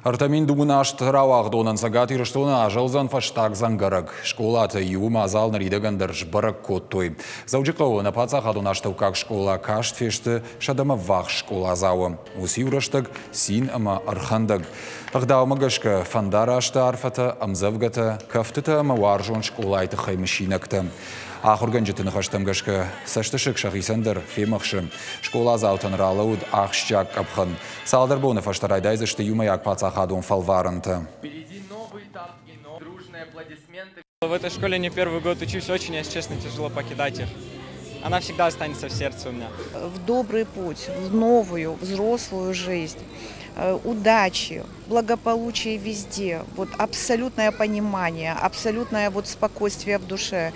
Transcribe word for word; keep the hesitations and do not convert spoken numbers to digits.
Ӕртӕ мин дыууын аст рауагъдонӕн Цӕгат Ирыстоны азӕлдзӕн фӕстаг дзӕнгӕрӕг. Скъолаты иуы мадзал ныридӕгӕн дӕр сбӕрӕг кодтой. Дзӕуджыхъӕуы нӕ паддзахадон астӕуккаг скъола каст фесты сӕдӕмӕ ввахс скъоладзауы. Уыцы иу рӕстӕг цин ӕмӕ ӕрхӕндӕг. Ӕгъдаумӕ гӕсгӕ фӕндарасты арфӕтӕ, ӕмдзӕвгӕтӕ, кӕфтытӕ ӕмӕ уарзон скъолайы тыххӕй мысинӕгтӕ. Ахуыргӕнджыты ныхӕстӕм гӕсгӕ цӕстысыг сӕхицӕн дӕр фемӕхсы. Скъоладзаутӕн ралӕуд ахсджиаг къӕпхӕн. Цалдӕр боны фӕстӕ райдайдзысты иумӕйаг паддзахадон фӕлварӕнтӕ. В этой школе не первый год учусь, очень, если честно, тяжело покидать их. Она всегда останется в сердце у меня. В добрый путь, в новую, взрослую жизнь. Э, удачи, благополучия везде. Вот абсолютное понимание, абсолютное вот спокойствие в душе.